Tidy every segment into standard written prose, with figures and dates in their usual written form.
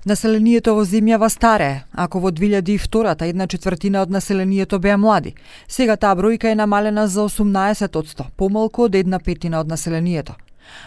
Населението во земјава старее. Ако во 2002-та 1/4 од населението беа млади, сега таа бројка е намалена за 18%, помалку од 1/5 од населението.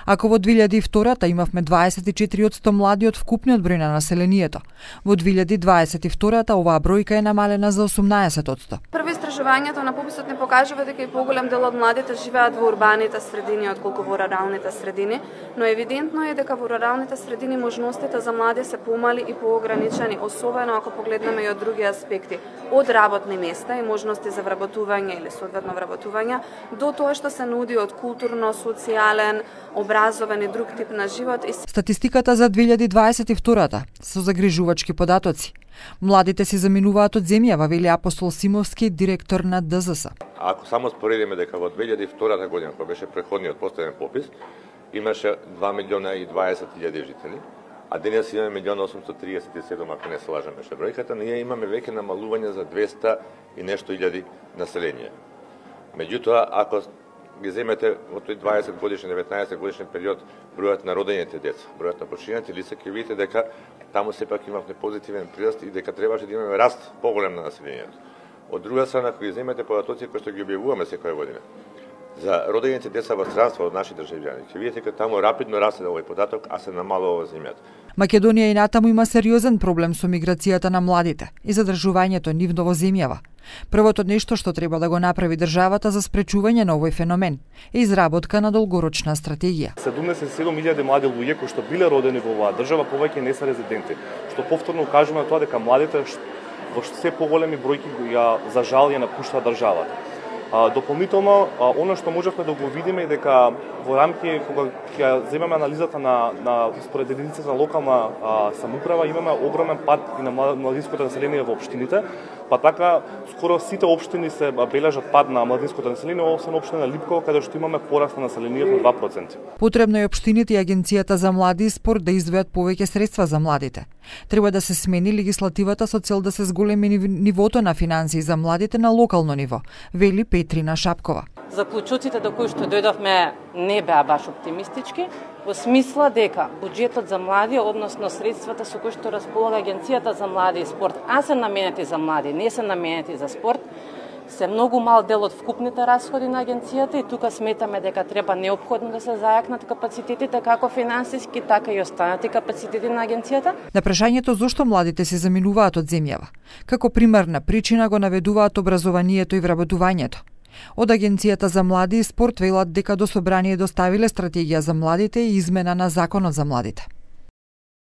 Ако во 2002-та имавме 24% млади од вкупниот број на населението, во 2022-та оваа бројка е намалена за 18%. Прво истражувањето на пописот не покажува дека и поголем дел од младите живеат во урбаните средини отколку во руралните средини, но евидентно е дека во руралните средини можностите за млади се помали и поограничени, особено ако погледнеме и од други аспекти, од работни места и можности за вработување или соодветно вработување, до тоа што се нуди од културно, социјален, образовен и друг тип на живот. Статистиката за 2022-та со загрижувачки податоци. Младите се заминуваат од земјава, вели Апостол Симовски, директор на ДЗС. Ако само споредиме дека во 2002 година, кога беше претходниот последен попис, имаше 2.020.000 жители, а денес имаме 1.837, ако не се лажам беше бројката, ние имаме веќе намалување за 200 и нешто илјади население. Меѓутоа, ако ги земете во тој 20 годишен, 19 годишен период бројот на родените деца, бројот на починените лица, ќе видите дека таму сепак имавме позитивен прираст и дека требаше да имаме раст поголем на населението. Од друга страна, ако ги земете податоци кои што ги објавуваме секоја година за родените деца во странство од наши државјани, ќе видите дека таму рапидно расте овој податок, а се намалува земјата. Македонија и натаму има сериозен проблем со миграцијата на младите и задржувањето нивно во земјава. Првото нешто што треба да го направи државата за спречување на овој феномен е изработка на долгорочна стратегија. 77.000 млади луѓе кои што биле родени во оваа држава повеќе не се резиденти, што повторно укажува на тоа дека младите во се поголеми бројки за жал ја напуштаат државата. Дополнително, оно што можевме да го видиме е дека во рамки, кога ќе земеме анализата на според единицата на локална самоуправа, имаме огромен пад и на младинското население во општините, па така скоро сите општини се бележат пад на младинското население, освен општина Липково, каде што имаме пораст на населението на 2%. Потребно е општините и Агенцијата за млади и спорт да издвојат повеќе средства за младите. Треба да се смени легислативата со цел да се зголеми нивото на финансии за младите на локално ниво, вели Петрина Шапкова. Заклучоците до кои што дојдовме не беа баш оптимистички, во смисла дека буџетот за млади, односно средствата со кои што располага Агенцијата за млади и спорт, а се наменети за млади, не се наменети за спорт, се многу мал дел од вкупните расходи на агенцијата и тука сметаме дека треба неопходно да се зајакнат капацитетите како финансиски, така и останати капацитети на агенцијата. На прашањето зошто младите се заминуваат од земјава, како примерна причина го наведуваат образованието и вработувањето. Од Агенцијата за млади и спорт велат дека до собрание доставиле стратегија за младите и измена на законот за младите.